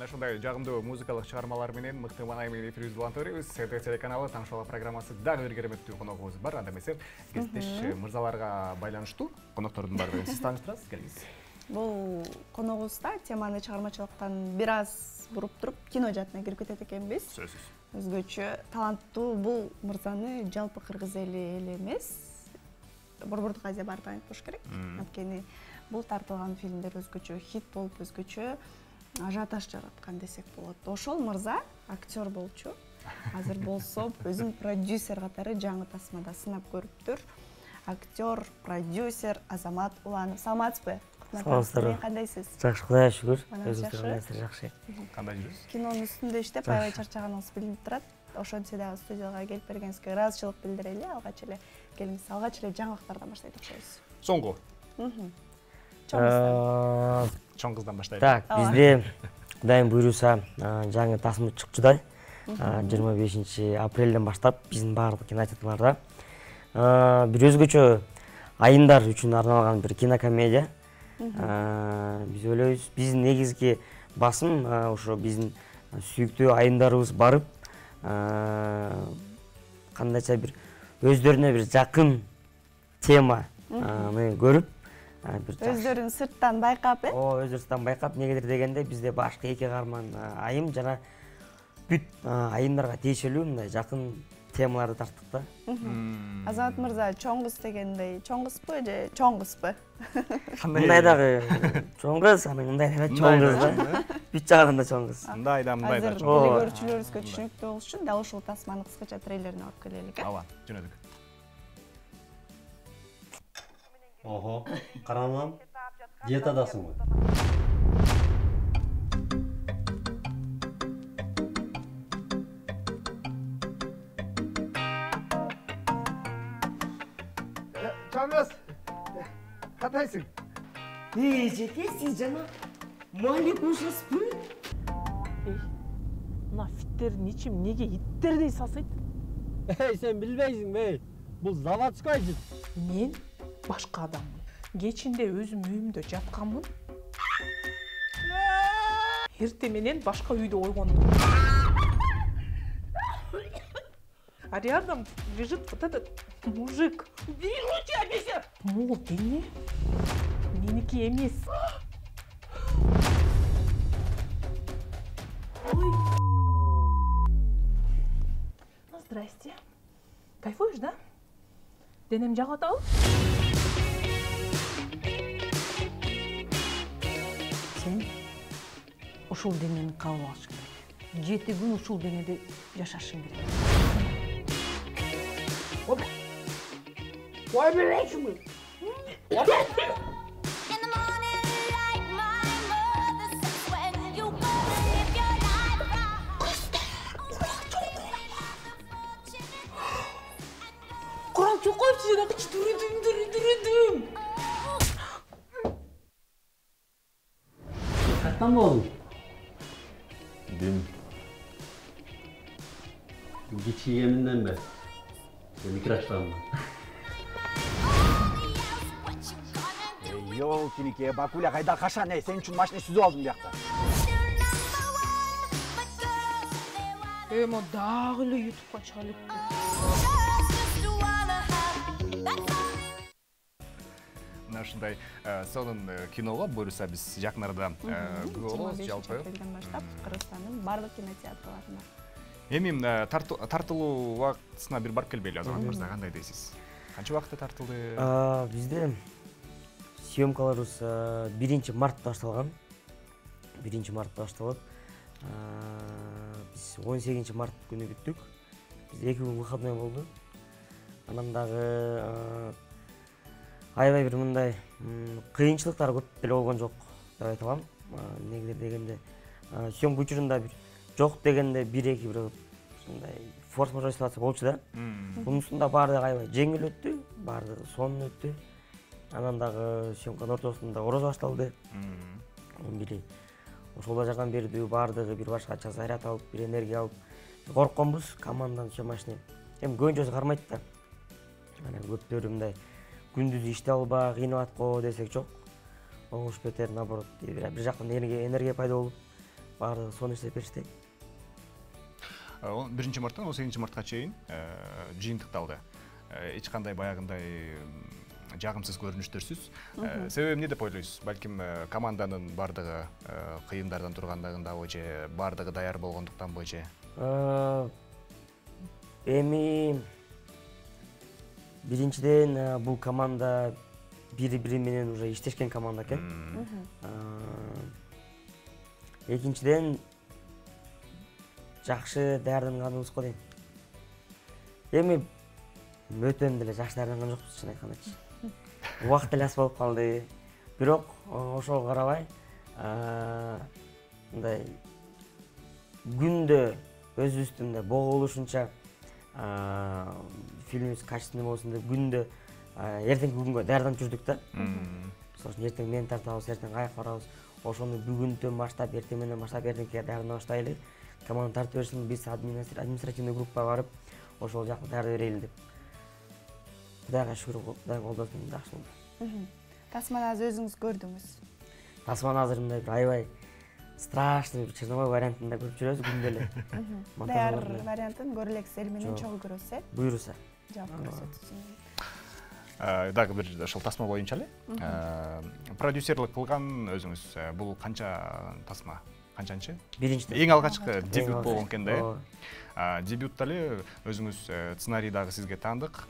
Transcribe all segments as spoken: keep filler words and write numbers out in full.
Мына ушундай жагымдуу музыкалык чыгармалар менен мыкты маанай менен эфирибизди улантып беребиз. СТ телеканалы Таныш бала программасы дагы бир кереметтүү коногубуз бар. Анда эмесе кесиптеш мырзаларга байланыштуу коноктордун баардыгын сиз тааныштырасыз, келиңиз. Бул коногубузда теманы чыгармачылыктан бир аз буруп туруп кино жаатына кирип кетет экенбиз. Сөзсүз. Өзгөчө таланттуу бул мырзаны жалпы кыргыз эли эле эмес, Борбордук Азия баардыгы айтып кош керек. Анткени бул тартылган фильмдер өзгөчө хит болуп, өзгөчө ажиотаж жараткан десек болот. Ошол мырза актер болчу. Азыр болсо өзүн продюсер катары жаңы тасмада сынап көрүптүр. Актер, продюсер Азамат Уланов. Саламатсызбы? Саламатсызбы? Кандайсыз? Жакшы, Кудайга шүгүр. Өзүңүз кандайсыздар? Жакшы. Кандай жүрөсүз? Кинонун үстүндө иштеп, аябай чарчаганыңыз билинип турат. Ошентсе дагы студияга келип бергениңизге ыраазычылык билдирели. Алгач эле келиңиз. Алгач эле жаңылыктардан баштайт окшойбуз. Соңку. Чоң кыздан баштайлы. Так, бизде Кудайым буйруса жаңы тасма чыкчудай. жыйырма бешинчи апрелден баштап биздин баардык кинотеатрларда бир өзгөчө айымдар үчүн арналган бир кинокомедия. Биз ойлойбуз, биздин негизги басым ошо биздин сүйүктүү айымдарыбыз барып, кандайча бир өздөрүнө бир жакын теманы көрүп, өздөрүн сырттан байкап, э? О, өздөрүн сырттан байкап, негедир дегенде бизде башка эки каарман айым жана бүт айымдарга тиешелүү мындай жакын темаларды тарттык да. Азамат мырза, чоң кыз дегендей, чоң кызбы же чоң кызбы? Мындай дагы чоң кыз, анан мындай дагы чоң кыз да. Бүт жагында чоң кыз. Мындай да, мындай да. Азыр көрүүчүлөрүбүзгө түшүнүктүү болуш үчүн дал ушул тасманын кыскача трейлерин алып келелик, э? Ооба, жөнөдүк. Ого, каранам. Диетадасыңбы? Чоңгыз, кандайсың? Эй, жеке, сиз жана Малик ушасызбы? Эй, мына фиттердин ичим неге иттердей сасыйт? Эй, сен билбейсиңби? Бул заводской жит. Мен башка адаммын. Кечинде өзүм үйүмдө жатканмын. Эрте менен башка үйдө ойгондум. А рядом лежит вот этот мужик. Убери руки, обещаю! Мол дене меники эмес. Ой. Ну, здрасте. Кайфуешь, да? Денем жагып атабы? Сен ушул денени кабыл алыш керек. Жети күн ушул денеде жашашың керек. Ой, билесиңби? Курам чокойчу жана дүрүдүм, дүрүдүм. Каттан болдуң? Дин. Кичи еминден бе? Микроштанмын. Ёлкиники, Бакуля кайда кашан, эй, сен үчүн машина сүзүп алдым биякта. Эмо дагы эле ютубка чыга элек. Мына ушундай сонун киного буюрса биз жакын арада күбө болобуз жалпы. Апрелден баштап Кыргызстандын бардык кинотеатрларында. Эми тартылуу убактысына бир барып келбейлиби, Азамат мырза, кандай дейсиз? Канча убакытта тартылды? Бизде съемкаларыбыз биринчи мартта башталган. биринчи мартта башталып, биз он сегизинчи март күнү бүттүк. Бизде эки күн выходной болду. Анан дагы аябай бир мындай кыйынчылыктар көп деле болгон жок деп айта алам. Негизи дегенде съемка учурунда бир жок дегенде бир эки бир ушундай форс-мажор ситуация болчу да. Мунусунда баардыгы аябай жеңил өттү, баардыгы сонун өттү. Анан дагы съемканын ортосунда орозо башталды. Били ошол жагдан бердүү, баардыгы бир башкача заряд алып, бир энергия алып коркконбуз команданын съемочной. Эми көбүнчөсү кармайт да. Анан көптөрү мындай күндүз иштей албай кыйнап аткоо десек жок. Оңуш бетер наоборот бир жактан энергия пайда болуп, баардыгы сонун иштеп беришти. биринчи марттан он сегизинчи мартка чейин жыйынтыкталды. Эч кандай баягындай жагымсыз көрүнүштөрсүз. Себеби эмне деп ойлойсуз? Балким команданын баардыгы кыйындардан тургандыгындабы же баардыгы даяр болгондуктанбы же? Эми биринчиден бул команда бири-бири менен уже иштешкен команда экен. Экинчиден жакшы даярданганыбыз го дейм. Эми өтөн деле жакшы даярданган жокпуз, чын айткандачы. Убакыт эле аз болуп калды. Бирок ошого карабай, мындай күндө өзүбүздүн бого болушунча фильмибиз качественный болсун деп күндө эртеңки күнгө даярданып жүрдүк да. Мисалы үчүн эртең мен тартабыз, эртең каяк барабыз. Ошону бүгүнтөн баштап, эртең менен баштап эртеңкиге даярдана баштайлы. Команда тартып берсин, биз административный группага барып, ошол жакта даярдап берели деп. Кудайга шүгүр, Кудай колдосун, жакшы болду. Тасманы азыр өзүңүз көрдүңүз. Тасманы азыр мындай бир аябай страшный бир Чернобыль вариантында көрүп жүрөбүз күндө эле. Даяр вариантын көрө элексиз, эл менен чогуу көрөсүз, э? Буйруса. Жаап көрсөтөсүз. Дагы бир ошол тасма боюнча эле. Продюсерлик кылган өзүңүз бул канча тасма? Канчанчы? Биринчи. Эң алгачкы дебют болгон экен да, э? Дебютта эле өзүңүз сценарий дагы сизге таандык.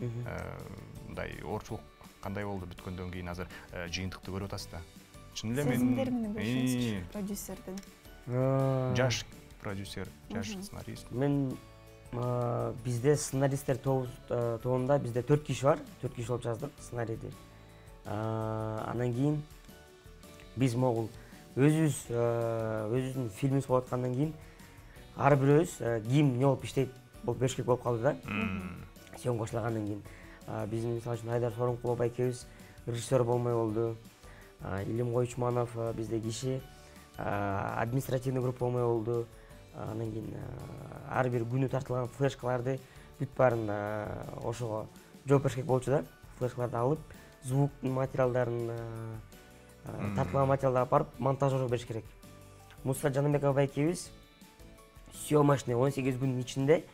Мындай оорчулук кандай болду бүткөндөн кийин азыр жыйынтыкты көрүп атасыз да? Чын эле мен сезимдер менен бөлүшүңүзчү продюсердин. Жаш продюсер, жаш сценарист. Мен бизде сценаристтер тобунда бизде төрт киши бар, төрт киши болуп жаздык сценарийди. Андан кийин биз могул өзүбүз өзүбүздүн фильмибиз болуп аткандан кийин ар бирөөбүз ким эмне болуп иштейт болуп бериш керек болуп калды да. Съемка башталгандан кийин биздин мисалы үчүн Айдар Сооронкулов байкебиз режиссер болмой болду. Илим Койчуманов бизде киши, административный группа болмой болду. Андан кийин ар бир күнү тартылган флешкаларды бүт баарын ошого жооп бериш керек болчу да. Флешкаларды алып, звук материалдарын, тартылган материалдарды алып барып монтажерге бериш керек. Муса Жаныбеков байкебиз съемочный он сегиз күндүн ичинде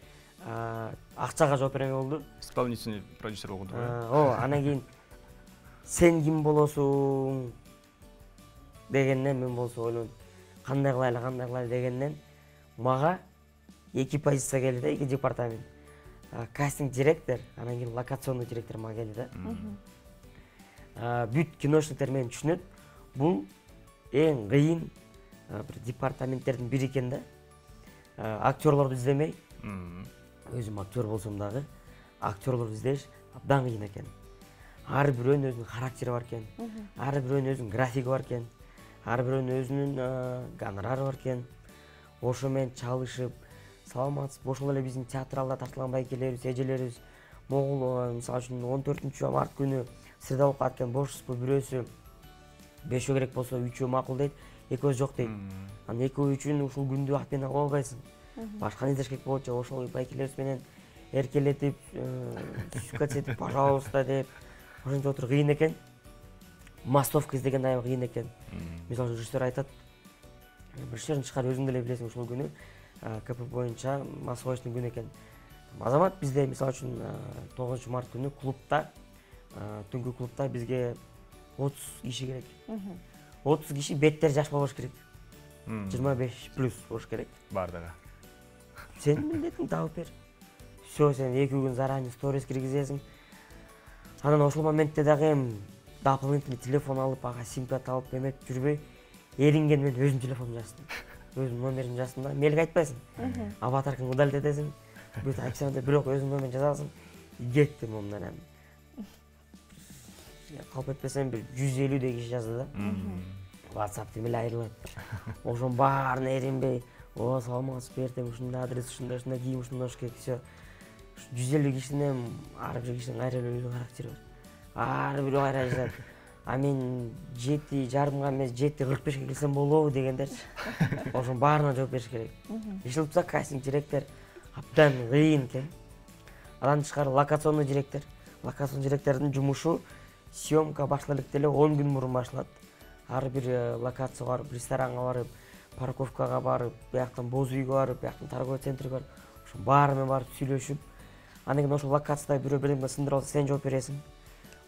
акчага жооп бермей болду. Исполнительный продюсер болгондо. О, андан кийин сен ким болосуң дегенден мен болсо ойлонуп, кандай кылайлы, кандай кылайлы дегенден мага эки позиция келди да, эки департамент. Кастинг директор, анан кийин локационный директор мага келди да. Бүт киношниктер мени түшүнөт. Бул эң кыйын бир департаменттердин бири экен да. Актерлорду издемей, өзүм актер болсом дагы, актерлорду издеш абдан кыйын экен. Ар бирөөнүн өзүнүн характери бар экен. Ар бирөөнүн өзүнүн графиги бар экен. Ар бирөөнүн өзүнүн гонорары бар экен. Ошо менен чалышып, саламатсызбы, ошол эле биздин театралда тартылган байкелерибиз, эжелерибиз могул мисалы үчүн он төртүнчү март күнү среда болуп калат экен, бошсузбу, бирөөсү бешөө керек болсо үчөө макул дейт, экөөсү жок дейт. Анан экөө үчүн ушул күндү ак менен кыла албайсың. Башканы издеш керек болот же ошол байкелерибиз менен эркелетип, сүкөтсетип, пожалуйста деп ошентип отуруп кыйын экен. Массовка издеген аябай кыйын экен. Мисалы режиссер айтат, режиссердин чыкар өзүң деле билесиң, ушул күнү КП боюнча массовочный күн экен. Азамат бизде мисалы үчүн тогузунчу март күнү клубта, түнкү клубта бизге отуз киши керек. отуз киши беттери жаш болбош керек. жыйырма беш плюс болуш керек. Бардыгы. Сен милдетиңди табып бер. Всё, сен эки күн заранее сторис киргизесиң. Анан ошол моментте дагы эми дополнительный телефон алып, ага сим-карта алып эметип жүрбөй, эринген мен өзүмдүн телефонумду жаздым. Өзүмдүн номеримди жаздым да, мелге айтпайсың. Аватаркаңды удалить этесиң. Бүт описаниеде бирок өзүңдүн номериңди жазасың. Кеттим ондан эми. Калп этпесем бир жүз элүүдөй киши жазды да. WhatsApp эле айрылат. Ошонун баарына эринбей, о, саламатсызбы, эртең ушундай адрес, ушундай, ушундай кийим, ушундай болуш керек. Всё. жүз элүү кишинин ар бир кишинин кайра өзүнүн характери бар. Ар бирөө кайра жазат. А мен жети жарымга эмес, жети кырк бешке келсем болобу дегендерчи. Ошонун баарына жооп бериш керек. Ишилипса кастинг директор абдан кыйын экен. Андан тышкары локационный директор. Локационный директордун жумушу съемка башталып элек деле он күн мурун башталат. Ар бир локацияга барып, ресторанга барып, парковкага барып, бияктан боз үйгө барып, бияктан торговый центрге барып, ошо баары менен барып сүйлөшүп, андан кийин ошол локацияда бирөө бирдеме сындырып алса сен жооп бересиң.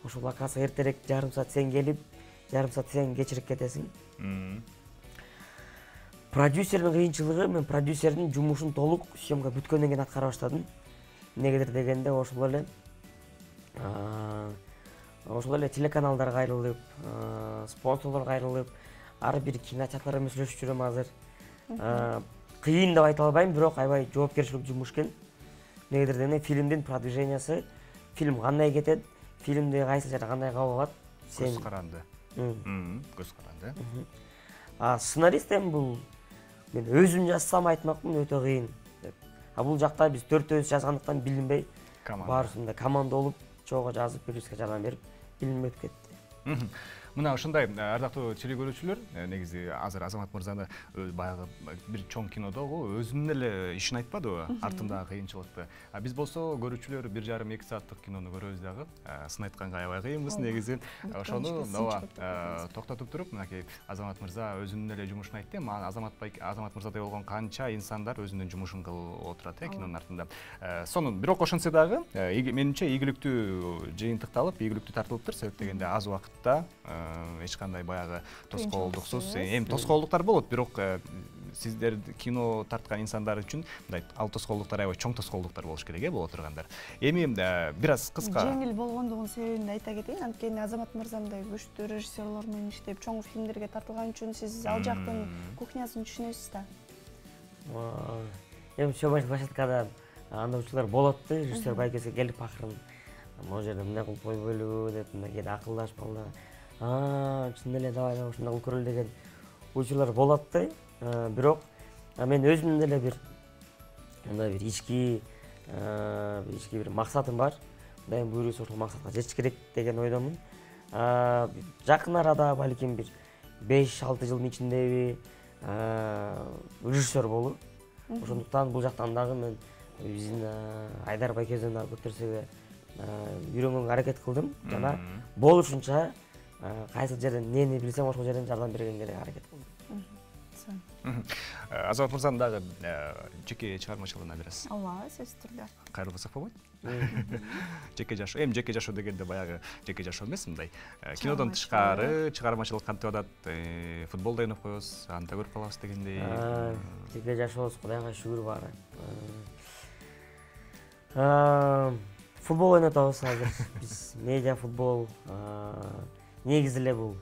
Ошол локацияга эртерээк жарым саат сен келип, жарым саат сен кечирип кетесиң. Продюсердин кыйынчылыгы, мен продюсердин жумушун толук съемка бүткөндөн кийин аткара баштадым. Эмнегедир дегенде ошол эле ошол эле телеканалдарга кайрылып, спонсорлорго кайрылып, ар бир кинотеатрда мен сүйлөшүп жүрөм азыр. Кыйын деп айта албайм, бирок аябай жоопкерчиликтүү жумуш экен. Эмнегедир дегенде фильмдин продвижениясы, фильм кандай кетет, фильмди кайсы жерде кандай кабыл алат, сен көз каранды. Көз каранды. А сценарист эми бул мен өзүм жазсам айтмакмын өтө кыйын деп. А бул жакта биз төртөөбүз жазгандыктан билинбей, баарысында команда болуп, чогуу жазып, продюсерге жардам берип, билинбей өтүп кетти. Мына ушундай ардактуу теле көрүүчүлөр, негизи азыр Азамат мырзаны баягы бир чоң кинодогу өзүнүн эле ишин айтпадыбы, артындагы кыйынчылыкты. А биз болсо көрүүчүлөр бир жарым эки сааттык кинону көрөбүз дагы. Сын айтканга аябай кыйынбыз негизи. Ошону ооба токтотуп туруп, мынакей Азамат мырза өзүнүн эле жумушун айтты. Мага Азамат Азамат мырзадай болгон канча инсандар өзүнүн жумушун кылып отурат э кинонун артында. Сонун бирок ошентсе дагы менимче ийгиликтүү жыйынтыкталып, ийгиликтүү тартылыптыр. Себеп дегенде аз убакытта эч кандай баягы тоскоолдуксуз, эми тоскоолдуктар болот, бирок сиздер кино тарткан инсандар үчүн мындай ал тоскоолдуктар аябай чоң тоскоолдуктар болуш керек э боло тургандар. Эми бир аз кыска жеңил болгондугунун себебин айта кетейин. Анткени Азамат мырза мындай күчтүү режиссерлор менен иштеп, чоң фильмдерге тартылган үчүн сиз ал жактын кухнясын түшүнөсүз да. Эми съемочный площадкада андай учурлар болот да, режиссер байкеси келип акырын могу жерде мындай кылып койбойлу деп, мындай кээде акылдашып калды. А, чын эле давай давай ушундай кылып көрөлү деген учурлар болот да. Бирок мен өзүмдүн эле бир мындай бир ички ички бир максатым бар. Мындай буюрса ошол максатка жетиш керек деген ойдомун. Жакын арада балким бир беш алты жылдын ичиндеби режиссер болуп, ошондуктан бул жактан дагы мен биздин Айдар байкебизден дагы көп нерсеге үйрөнгөнгө аракет кылдым жана болушунча кайсы жерден эмнени билсем ошол жерден жардам бергенге аракет кылдым. Азамат мырзанын дагы жеке чыгармачылыгына бир аз ооба, сөзсүз түрдө кайрылбасак болбойт? Жеке жашоо, эми жеке жашоо дегенде баягы жеке жашоо эмес, мындай кинодон тышкары чыгармачылык кантип атат, футбол да ойноп коебуз, аны да көрүп калабыз дегендей. Жеке жашообуз Кудайга шүгүр баары. Футбол ойнотобуз азыр. Биз медиа футбол, негизи эле бул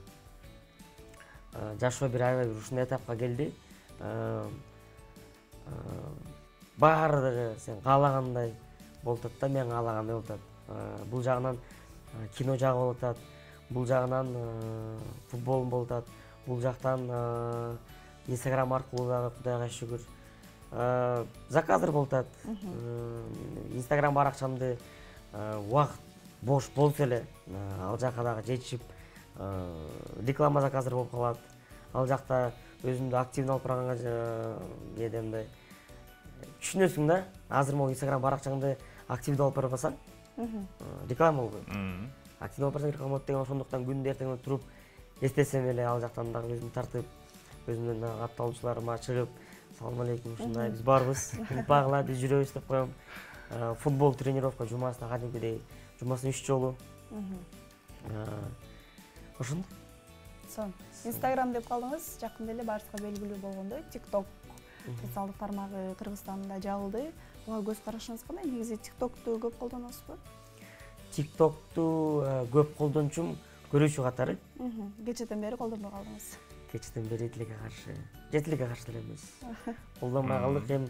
жашоо бир аябай бир ушундай этапка келди. Баардыгы сен каалагандай болуп атат да, мен каалагандай болуп атат. Бул жагынан кино жагы болуп атат, бул жагынан футбол болуп атат, бул жактан Инстаграм аркылуу дагы Кудайга шүгүр заказдар болуп атат. Инстаграм баракчамды убакыт бош болсо эле ал жака дагы жетишип реклама заказдар болуп калат. Ал жакта өзүмдү активдүү алып барганга кээде мындай түшүнөсүң да. Азыр могу Инстаграм баракчаңды активдүү алып барбасаң реклама болбойт. Активдүү алып барсаң реклама болот деген, ошондуктан күндө эртең туруп эстесем эле ал жактан дагы өзүмдү тартып, өзүмдүн катталуучуларыма чыгып, салам алейкум, ушундай биз барбыз, багыла биз жүрөбүз деп коем. Футбол тренировка жумасына кадимкидей, жумасына үч жолу. Ошондой. Сон. Инстаграм деп калдыңыз, жакында эле баарыбызга белгилүү болгондой, TikTok социалдык тармагы Кыргызстанда жабылды. Буга көз карашыңыз кандай? Негизи TikTok'ту көп колдоносузбу? TikTok'ту көп колдончумун, көрүүчү катары. Кечеден бери колдонбой калдыңыз. Кечеден бери тилекке каршы. Жетилекке каршы эле эмес. Колдонбой калдык. Эми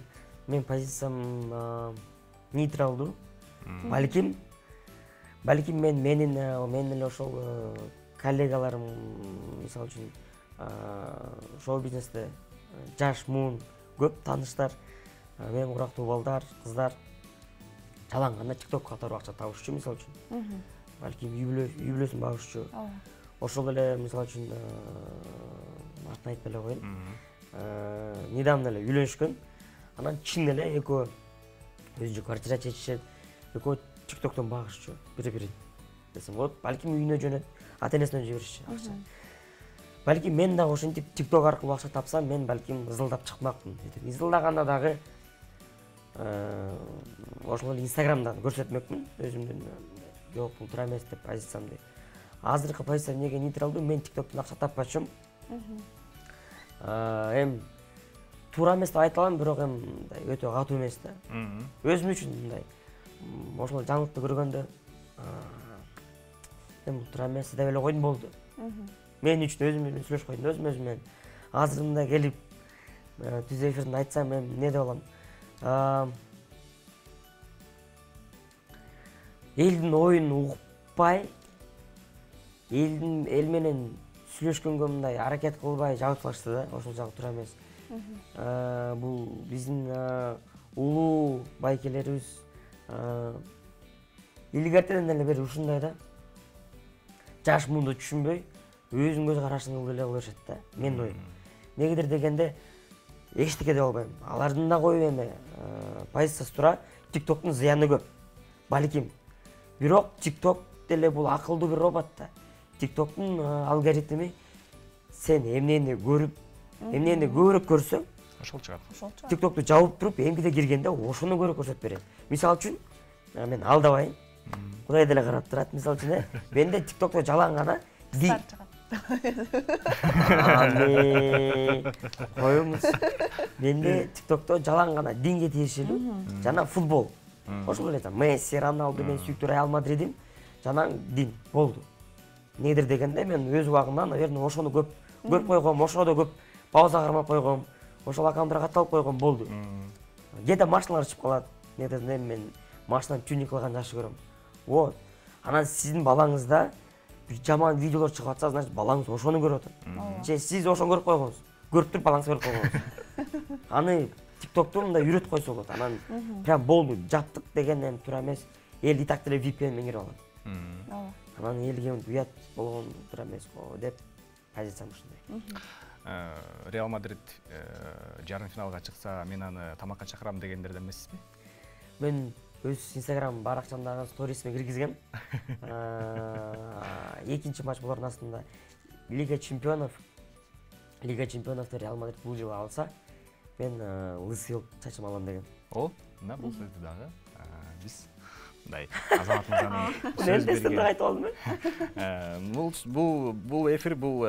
мен позициям нейтралдуу. Балким балким мен менин менин эле ошол коллегаларым, мисалы үчүн шоу бизнесте жаш муун көп тааныштар, мен урактуу балдар, кыздар жаланганда TikTok катары акча табышчу, мисалы үчүн. Балким үй бүлөсүн багышчу. Ошол эле мисалы үчүн атын айтпай эле коеюн. Недавно эле үйлөнүшкөн. Анан чын эле экөө өзүнчө квартира чечишет, экөө TikTok'тон багышчу бири-бирин десем болот. Балким үйүнө жөнөт, ата-энесине жиберишчи акча. балким мен дагы ошентип тикток аркылуу акча тапсам, мен балким ызылдап чыкмакмын. Ызылдаганда дагы ошол эле инстаграмдан көрсөтмөкмүн өзүмдүн жок бул туура эмес деп позициямды. Азыркы позиция эмнеге нейтралдуу, мен тиктоктон акча таппачумун. Эм туура эмес деп айта алам, бирок эм өтө катуу эмес да. Өзүм үчүн мындай ошол жаңылыкты көргөндө эм туура эмес деп эле койдум, болду. Мен үчүн өзүм менен сүйлөшүп койдум, өзүм өзүм менен. Азыр мындай келип түз эфиринде айтсам, мен эмне деп алам? Элдин оюн укпай, элдин эл менен сүйлөшкөнгө мындай аракет кылбай жабыт салышты да, ошол жагы туура эмес. Бул биздин улуу байкелерибиз илгертеден эле бери ушундай да. Жаш муунду түшүнбөй, өзүнүн көз карашын кылып эле кала беришет да. Менин оюм. Негедир дегенде эчтеке деп албайм. Алардын да коюп эме позициясы туура, тиктоктун зыяны көп. Балким. Бирок тикток деле бул акылдуу бир робот да. Тиктоктун алгоритми сен эмнени көрүп, эмнени көбүрөөк көрсөң, ошол чыгат. Тиктокту жабып туруп, эмгиде киргенде ошону көрүп көрсөтүп берет. Мисалы үчүн, мен алдабайм. Кудай деле карап турат, мисалы үчүн, менде тиктокто жалаң гана ди. Коюңуз. Менде тиктокто жалаң гана динге тиешелүү жана футбол. Ошол эле Месси, Роналду, мен сүйүктүү Реал Мадридим, жана дин болду. Негедир дегенде мен өз убагымда, наверное, ошону көп көрүп койгом, ошодо көп пауза кармап койгом, ошол аккаунттарга катталып койгом, болду. Кээде машиналар чыгып калат. Негедир мен машинаны тюнинг кылган жакшы көрөм. Вот. Анан сиздин балаңызда бир жаман видеолор чыгып атса, значит, балаңыз ошону көрүп атат. Же сиз ошону көрүп койгоңуз. Көрүп туруп балаңызга көрүп койгоңуз. Аны тиктокту мындай үйрөтүп койсо болот. Анан прям болду, жаптык деген эми туура эмес. Эл и так деле ви пи эн менен кирип алат. Анан элге уят болгон туура эмес го деп позициям ушундай. Реал Мадрид жарым финалга чыкса, мен аны тамакка чакырам дегендерден эмессизби? Мен өз инстаграм баракчамдагы сторисиме киргизгем. Экинчи матч болордун астында Лига чемпионов, Лига чемпионовду Реал Мадрид бул жылы алса, мен лысый чачым алам деген. О, мына бул сөздү дагы биз мындай Азамат мырзанын сөз берген. Айтып алдым. Бул бул бул эфир, бул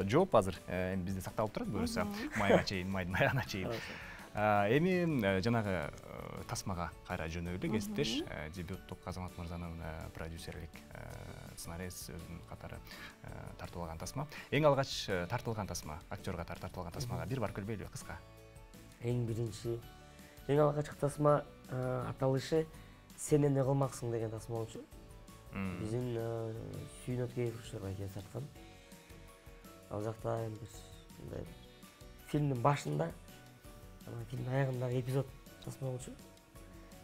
жооп азыр эми бизде сакталып турат, буюрса майга чейин, майдын аягына чейин. Эми жанагы тасмага кайра жөнөйлү, кесиптеш. Дебюттук Азамат мырзанын продюсерлик сценарист өзүнүн катары тартып алган тасма. Эң алгач тартылган тасма, актер катары тартылган тасмага бир бар көрбөйлүбү кыска? Эң биринчи, эң алгачкы тасма аталышы «Сен эмне кылмаксың» деген тасма болчу. Биздин Сүйүн Өткөев байке тарткан. Ал жакта мындай фильмдин башында, анан фильмдин аягындагы эпизод тасма болчу.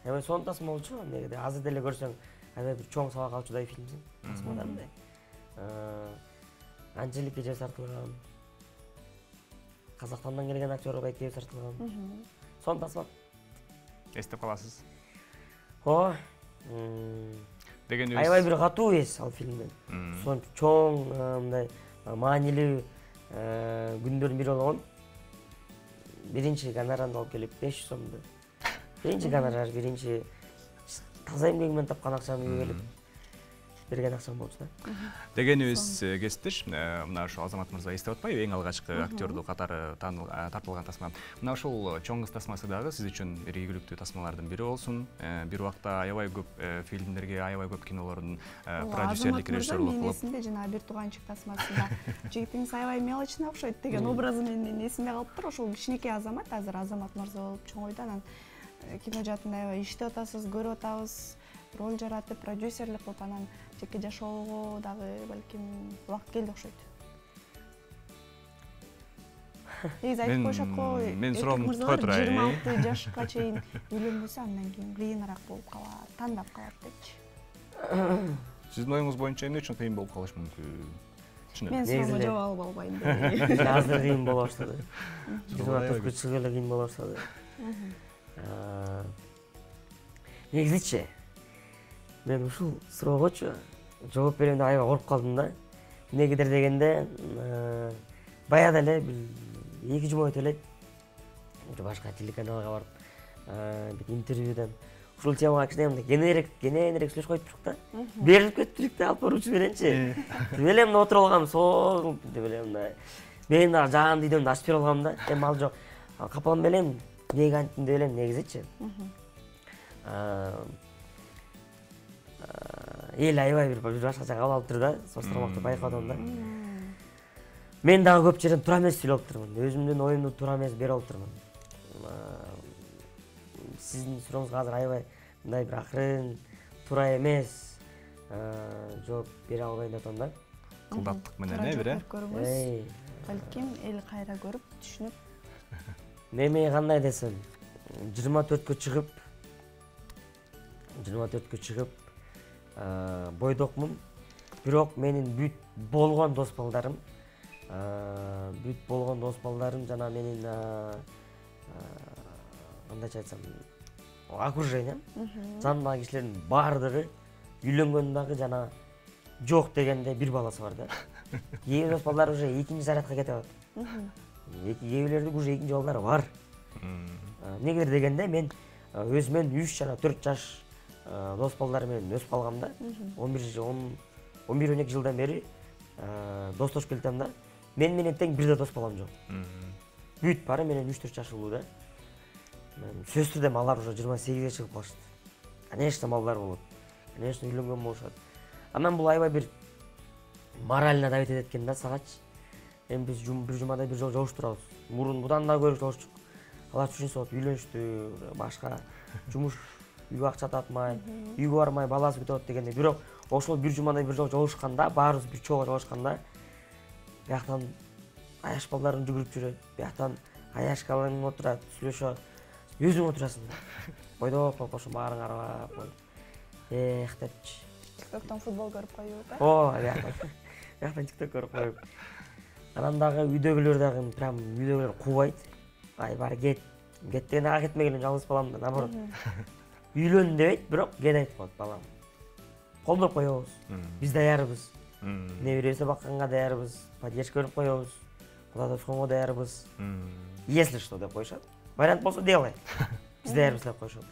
Эми сонун тасма болчу. Негеде азыр деле көрсөң, аябай бир чоң сабак алчудай фильмсиң. Тасмада мындай. Анжелика же тартылган. Казакстандан келген актер байке тартылган. Сонун тасма. Эстеп каласыз? О, деген аябай бир катуу эс ал фильмден. Сонун чоң мындай маанилүү күндөрдүн бири болгон. Биринчи гонорарымды алып келип беш жүз сомду. Биринчи гонорар, биринчи таза эмгегимден тапкан акчамды үйгө келип берген акчам болчу да. Дегенибиз кесиптеш, мына ошо Азамат мырза эстеп атпайбы, эң алгачкы актерду катары тартылган тасма. Мына ошол чоң кыз тасмасы дагы сиз үчүн бир ийгиликтүү тасмалардын бири болсун. Бир убакта аябай көп фильмдерге, аябай көп кинолордун продюсерлик, режиссерлук кылып. Эсимде жана бир тууганчык тасмасында жигитиңиз аябай мелочный окшойт деген образы менен эсимде калыптыр. Ошол кичинекей Азамат, азыр Азамат мырза болуп чоңойду, анан кино жаатында аябай иштеп атасыз, көрүп атабыз, роль жаратып, продюсерлик кылып, анан жеке жашоого дагы балким убакыт келди окшойт. Негизи айтып коюшат го, мен суроомду кое турайын. жыйырма алты жашка чейин үйлөнбөсө андан кийин кыйыныраак болуп калат, тандап калат депчи. Сиздин оюңуз боюнча эмне үчүн кыйын болуп калышы мүмкүн? Мен суроомо жооп алып албайм. Азыр кыйын боло баштады. жыйырма төрткө чыгып эле кыйын боло баштады. Негизичи мен ушул суроогочу жооп берем деп аябай коруп калдым да. Эмнегедир дегенде, баягы эле бир эки жума өтө элек башка телеканалга барып бир интервьюдан ушул темага кичине мындай кененирээк кененирээк сүйлөшүп коюп турук да. Берилип кеттик да алып баруучу мененчи. Деп эле мына отуруп алгам, сол деп эле мындай. Мен дагы жаан үйдөн ачып берип алгам да. Эми ал жок. Капалам белем, эмнеге анттым деп элем негизичи. Эл аябай бир башка жака кабыл алып тур да, состормокто байкап атам да. Мен дагы көп жерден туура эмес сүйлөп турмун. Өзүмдүн оюмду туура эмес берип алып турмун. Сиздин сурооңузга азыр аябай мындай бир акырын, туура эмес жооп бере албайм деп атам да. Кылдаттык менен э бир э. Балким эл кайра көрүп, түшүнүп. Неме кандай десем, жыйырма төрткө чыгып, жыйырма төрткө чыгып бойдокмун. Бирок менин бүт болгон дос балдарым, бүт болгон дос балдарым жана менин кандайча айтсам, окружением, жанымдагы кишилердин баардыгы үйлөнгөн дагы жана жок дегенде бир баласы бар да. Кээ бир дос балдар уже экинчи зарядка кетип атат. Кээ бирлердин уже экинчи балдары бар. Эмнегедир дегенде мен өзүмөн үч жана төрт жаш дос балдар менен өсүп калгам да. он бир он бир он эки жылдан бери достошуп келатам да. Мен менен тең бир да дос балам жок. Бүт баары менен үч төрт жаш улуу да. Сөзсүз түрдө алар уже жыйырма сегизге чыгып калышты. Конечно, балдар болот. Конечно, үйлөнгөн болушат. Анан бул аябай бир морально давить этет экен да сагачы. Эми биз бир жумада бир жолу жолугуп турабыз. Мурун будан да көп жолугуштук. Алар түшүнсөт, үйлөнүштү, башка жумуш, үйгө акча тапмай, үйгө бармай, баласы күтүп атат дегенде. Бирок ошол бир жумада бир жолу жолугушканда, баарыбыз бир чогуу жолугушканда, бияктан аяш балдарын жүгүрүп жүрөт, бияктан аяшкаларың отурат, сүйлөшөт. Өзүң отурасың да. Бойдоп болуп ошо баарын карап коюп. Эх депчи. TikToктон футбол көрүп коюп, э? О, бияктан. Бияктан TikTok көрүп коюп. Анан дагы үйдөгүлөр дагы прям үйдөгүлөр кубайт. Ай баары кет. Кет деген ага кетмеген жалгыз балам да, наоборот. Үйлөн дебейт, бирок кет айтып коет балам. Колдоп коебуз. Биз даярбыз. Неберебизди бакканга даярбыз. Поддержка берип коебуз. Куда тосконго даярбыз. Если что деп коюшат. Вариант болсо делай. Биз даярбыз деп коюшат.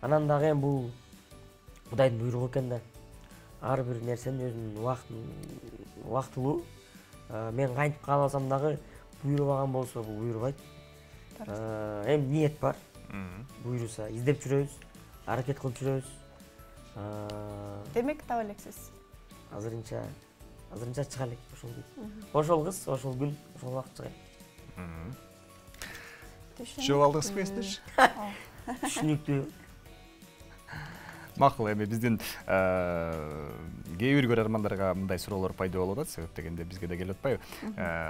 Анан дагы эми бул Кудайдын буйругу экен да. Ар бир нерсенин өзүнүн убактын убактылуу. Мен кантип кааласам дагы буйрубаган болсо бул буйрубайт. Эми ниет бар. Буйруса издеп жүрөбүз, аракет кылып жүрөбүз. Демек таба элексиз. Азырынча, азырынча чыга элек ошол күн. Ошол кыз, ошол күн, ошол убакыт чыга. Түшүнүп алдыңызбы эстеш? Түшүнүктүү. Макул, эми биздин кээ бир көрөрмандарга мындай суроолор пайда болуп атат, себеп дегенде бизге да келип атпайбы?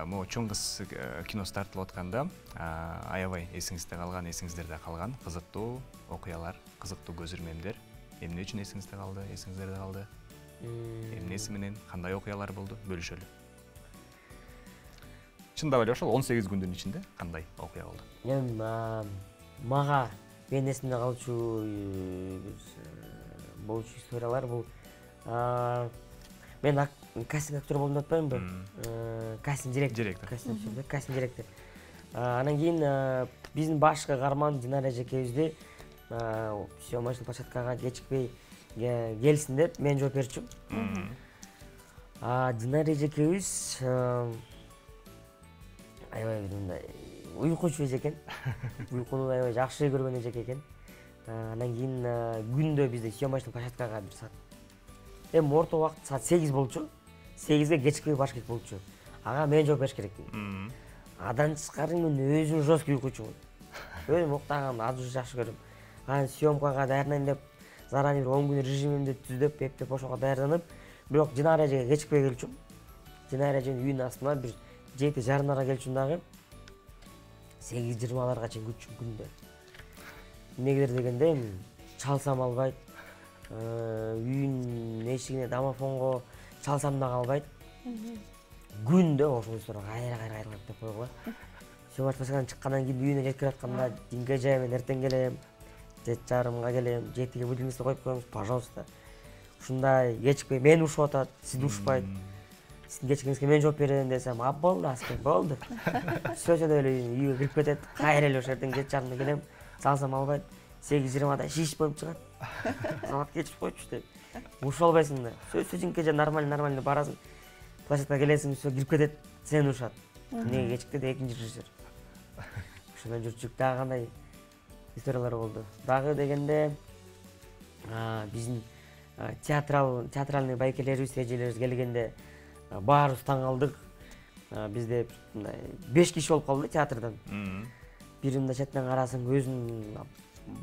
Могу чоң кыз киносу тартылып атканда аябай эсиңизде калган, эсиңиздерде калган кызыктуу окуялар, кызыктуу көзүрмемдер эмне үчүн эсиңизде калды, эсиңиздерде калды? Эмнеси менен кандай окуялар болду? Бөлүшөлү. Чындап эле ошол он сегиз күндүн ичинде кандай окуя болду? Эми мага менин эсимде калчу болчу историялар бул мен кастинг актер болдум деп атпаймынбы? Кастинг директор. Кастинг кастинг директор. Анан кийин биздин башкы каарман Динара эжекебизди съемочный площадкага кечикпей келсин деп мен жооп берчүмүн. Динара эжекебиз аябай бир мындай уйкучу эжекен. Уйкуну аябай жакшы көргөн эжек экен. Анан кийин күндө бизде съемочный площадкага бир саат. Эми орто убакыт саат сегиз болчу. сегизге кечикпей баш керек болчу. Ага мен жооп бериш керекмин. Адан тышкары мен өзүм жесткий уйкучумун. Өзүм уктаганды азыр жакшы көрөм. Анан съемкага даярданайын деп заранее бир он күн режимимди түзүп, эптеп ошого даярданып, бирок Динара эжеге кечикпей келчүм. Динара эженин үйүнүн астына бир жети жарымдарга келчүм дагы. сегиз жыйырмаларга чейин күтчүм күндө. Эмнегедир дегенде чалсам албайт. Үйүнүн эшигине домофонго чалсам да албайт. Күндө ошол суроо кайра кайра кайра деп койгула. Сөмөртпөсүнөн чыккандан кийин үйүнө жетип атканда динге жаймен эртең келем, жети жарымга келем, жетиге будильникти коюп коюңуз, пожалуйста. Ушундай кечикпей мени ушуп атат, сизди ушпайт. сиздин кечигиңизге мен жооп берем десем, а болду аскер, болду. Сөзөдө эле үйгө кирип кетет. Кайра эле ошол жерден жети жарымда келем. Салсам албайт. сегиз жыйырмада шиш болуп чыгат. Самат кечип койчу деп. Уша албайсың да. Сөзүңкө же нормально нормально барасың. Площадкага келесиң, всё кирип кетет. Сени ушат. Эмнеге кечикти деп экинчи режиссер. Ошондон жүрчүк. Дагы кандай историялар болду. Дагы дегенде биздин театрал театральный байкелерибиз, эжелерибиз келгенде баарыбыз таң калдык. Бизде мындай беш киши болуп калды театрдан. Бир мындай четинен карасаң өзүнүн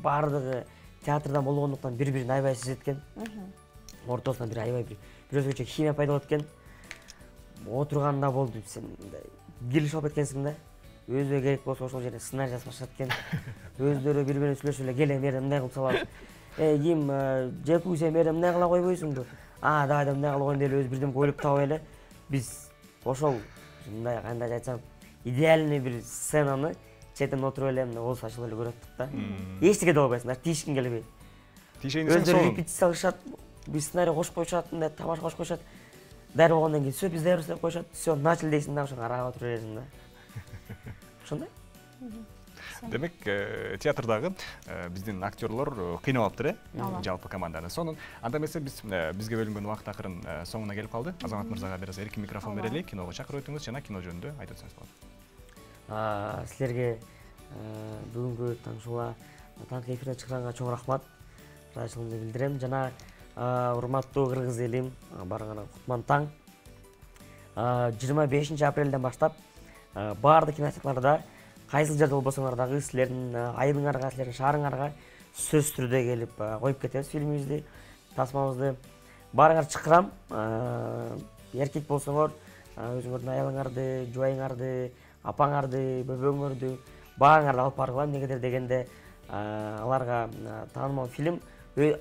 баардыгы театрдан болгондуктан бири-бирин аябай сезет экен. Ортосунда бир аябай бир бир өзгөчө химия пайда болот экен. Отурганда болду, сен мындай келишип алып кеткенсиң да. Өзүгө керек болсо ошол жерде сценарий жазып башат экен. Өздөрү бири-бирине сүйлөшүп эле келе мери мындай кылып салалы. Э, ким Жеку сен мери мындай кыла койбойсуңбу? А, давай да мындай кылып коеюн деп эле өз бирдем ойлоп табай эле биз ошол мындай кандай айтсам, идеальный бир сценаны четен отуруп эле мына оозу ачылып эле көрөттүк да. Эчтеке да болбойсуң, тийишкиң келбейт. Тиишейин десең Өздөрү репетиция кылышат, биз сценарий кошуп коюшат, мындай тамаша кошуп коюшат. Дайыр болгондон кийин всё биз даярбыз деп коюшат. Всё, начали дейсиң да, ошо карап отура бересиң да. Ошондой. Демек, театрдагы биздин актерлор кыйналып алыптыр, э? Жалпы команданы. Сонун анда эмесе биз бизге бөлүнгөн убакыт акырын соңуна келип калды. Азамат мырзага бир аз эркин микрофон берели, киного чакырып өтүңүз жана кино жөнүндө айтып өтсөңүз болот. Силерге бүгүнкү Таңшола таңкы эфирден чыкканга чоң рахмат. Ыраазычылыгымды билдирем жана урматтуу кыргыз элим, барыңарга кутман таң. жыйырма бешинчи апрелден баштап баардык кинотеатрларда кайсыл жерде болбосоңор дагы силердин айылыңарга, силердин шаарыңарга сөзсүз түрдө келип коюп кетебиз фильмибизди, тасмабызды. Барыңар чакырам. Эркек болсоңор, өзүңөрдүн аялыңарды, жубайыңарды, апаңарды, бөбөңөрдү баарыңарды алып баргыла. Эмнегедир дегенде аларга таанымал фильм,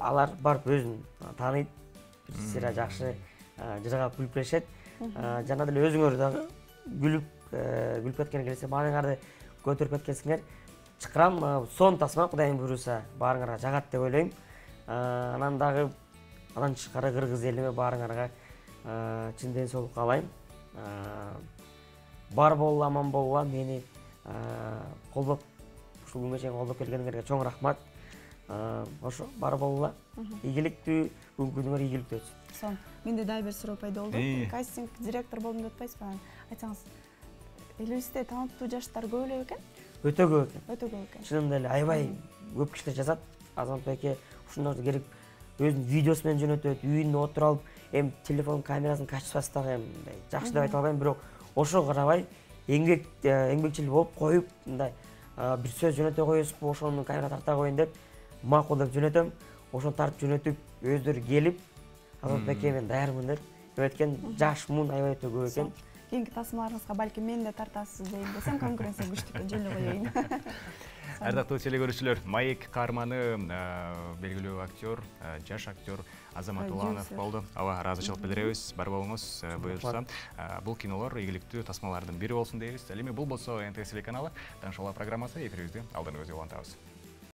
алар барып өзүн тааныйт, сыра жакшы жыргап күлүп беришет. Жана деле өзүңөр дагы күлүп күлүп кеткен келсе, мааныңарды көтөрүп кеткенсиңер. Чакырам, сон тасма Кудайым буйруса баарыңарга жагат деп ойлойм. Анан дагы андан тышкары кыргыз элиме баарыңарга чын ден соолук каалайм. Бар болула, аман болула, мени колдоп, ушул күнгө чейин колдоп келгениңерге чоң рахмат. Ошо, бар болула. Ийгиликтүү, бүгүнкү күнүңөр ийгиликтүү өтсүн. Сон, менде дагы бир суроо пайда болду. Кастинг директор болдум деп атпайсызбы? Айтсаңыз, элибизде таланттуу жаштар көп эле экен? Өтө көп экен. Өтө көп экен. Чынында эле аябай көп кишилер жазат. Азамат байке ушундарды керек өзүнүн видеосу менен жөнөтөт, үйүндө отуруп алып, эми телефон камерасын качпас дагы мындай жакшы деп айта албайм, бирок ошого карабай эмгек эмгекчил болуп коюп, мындай бир сөз жөнөтө коесузбу, ошону камера тарта коеюн деп макул деп жөнөтөм. Ошону тартып жөнөтүп, өздөрү келип, Азамат байке мен даярмын деп өткөн жаш муун аябай өтө көп экен. Кийинки тасмаларыңызга балким мени да тартасыз дейм десем, конкуренция күчтүү экен, жөн эле коеюн. Ардактуу телекөрүүчүлөр, маек каарманы белгилүү актер, жаш актер Азамат Уланов болду. Аба, ыраазычылык билдиребиз. Бар болуңуз, буюрса. Бул кинолор ийгиликтүү тасмалардын бири болсун дейбиз. Ал эми бул болсо эн тэ эс телеканалы Таңшола программасы, эфирибизди алдан өзү улантабыз.